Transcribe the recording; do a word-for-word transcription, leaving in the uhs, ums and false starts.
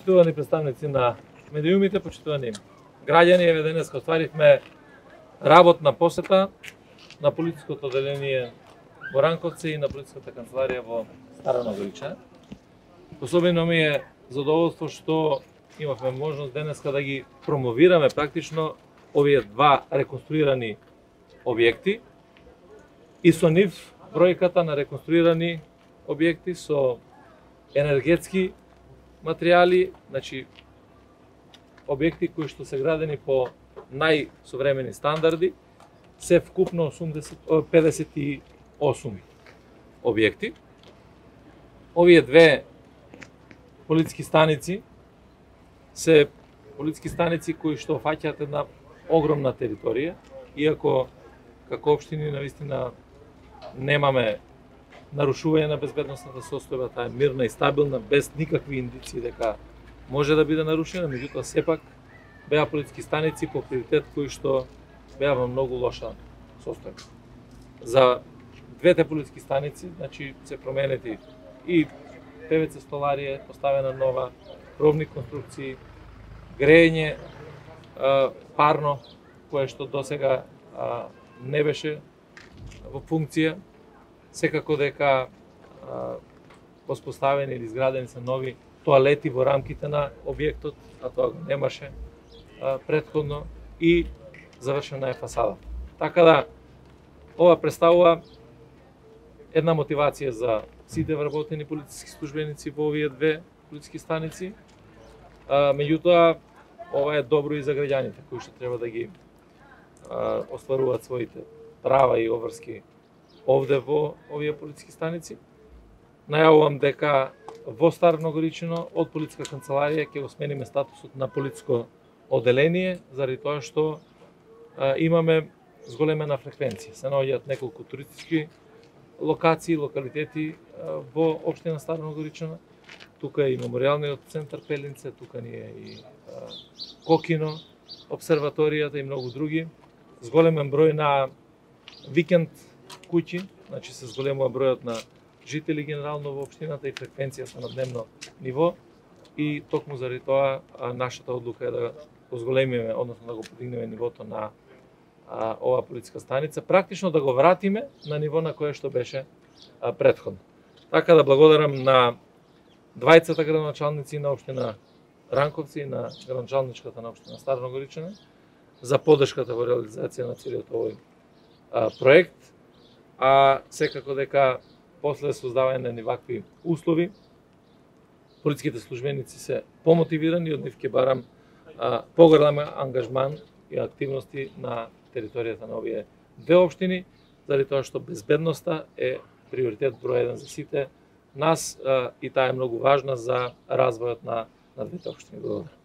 Почитувани представници на медиумите, почитувани граѓани, еве денес остваривме работна посета на полициското одделение во Ранковци и на полициската канцеларија во Стара Ногорича. Особено ми е задоволство што имавме можност денеска да ги промовираме практично овие два реконструирани објекти и со нив бројката на реконструирани објекти со енергетски материјали, значи објекти кои што се градени по најсовремени стандарди, се вкупно педесет и осум објекти. Овие две полициски станици се полициски станици кои што фаќаат една огромна територија, иако како општини навистина немаме нарушување на безбедносната состојба, таа е мирна и стабилна, без никакви индиции дека може да биде нарушена, меѓутоа сепак беа полициски станици по приоритет кои што беа во многу лоша состојба. За двете полициски станици, значи се променети и ПВЦ столарија, поставена нова, кровни конструкции, грејење парно, кое што досега не беше во функција. Секако дека воспоставени или изградени се нови тоалети во рамките на објектот, а тоа го немаше претходно, и завршена е фасада. Така да, ова представува една мотивација за сите вработени полициски службеници во овие две полициски станици. Меѓутоа, ова е добро и за граѓаните кои што треба да ги остваруваат своите права и обврски овде во овие полициски станици. Најавувам дека во Стара Ногоричино од полициска канцеларија ќе го смениме статусот на полициско одделение, заради тоа што а, имаме зголемена фреквенција. Се наоѓаат неколку туристички локации, локалитети а, во општина Стара Ногоричино. Тука е и меморијалниот центар Пелинце, тука ни е и а, Кокино, обсерваторијата и многу други. Зголемен број на викенд куќи, значи се зголемува бројот на жители генерално во општината и фреквенцијата на дневно ниво, и токму заради тоа а, нашата одлука е да го зголемиме, односно да го подигнеме нивото на а, оваа полициска станица, практично да го вратиме на ниво на кое што беше а, претходно. Така да благодарам на двајцата градоначалници на општина Ранковци и на градоначалничката на општина Стара Ногоричина за поддршката во реализација на целиот овој а, проект, а секако дека после создавање на вакви услови, полициските службеници се помотивирани, од нив ќе барам а, поголем ангажман и активности на територијата на овие две општини, заради тоа што безбедноста е приоритет број еден за сите нас а, и таа е многу важна за развојот на, на двете општини. Благодарам.